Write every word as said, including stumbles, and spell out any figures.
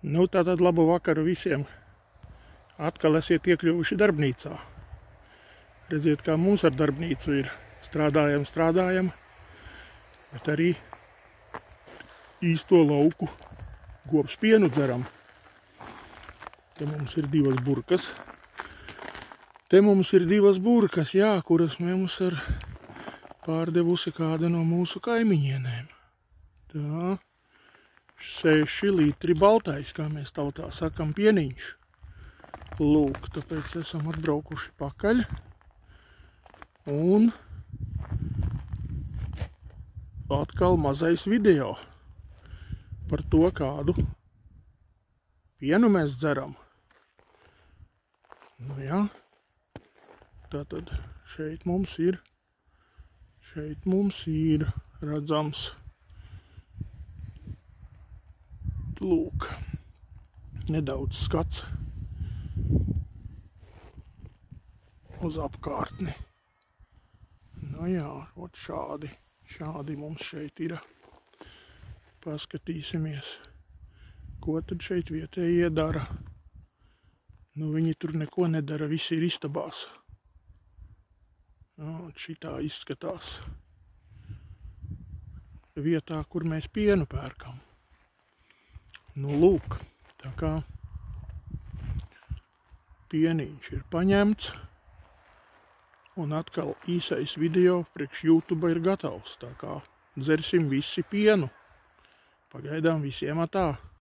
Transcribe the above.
Nu, tātad labu vakaru visiem. Atkal esiet iekļuvuši darbnīcā. Redziet, kā mums ar darbnīcu ir. Strādājam, strādājam, bet arī īsto lauku govs pienu dzeram. Te mums ir divas burkas. Te mums ir divas burkas, jā, kuras mums ir pārdevusi kāda no mūsu kaimiņienēm. Tā. seši litri baltais, kā mēs tautā sakam, pieniņš. Lūk, tāpēc esam atbraukuši pakaļ. Un atkal mazais video par to, kādu pienu mēs dzeram. Nu jā, tātad šeit mums ir, šeit mums ir redzams. Lūk, nedaudz skats uz apkārtni. Nu jā, ot šādi, šādi mums šeit ir. Paskatīsimies, ko tad šeit vietējie dara. Nu, viņi tur neko nedara, visi ir istabās. Nu, šitā izskatās vietā, kur mēs pienu pērkam. Nu, lūk, tā kā pieniņš ir paņemts, un atkal īsais video priekš YouTube ir gatavs, tā kā dzersim visi pienu. Pagaidām visiem atā.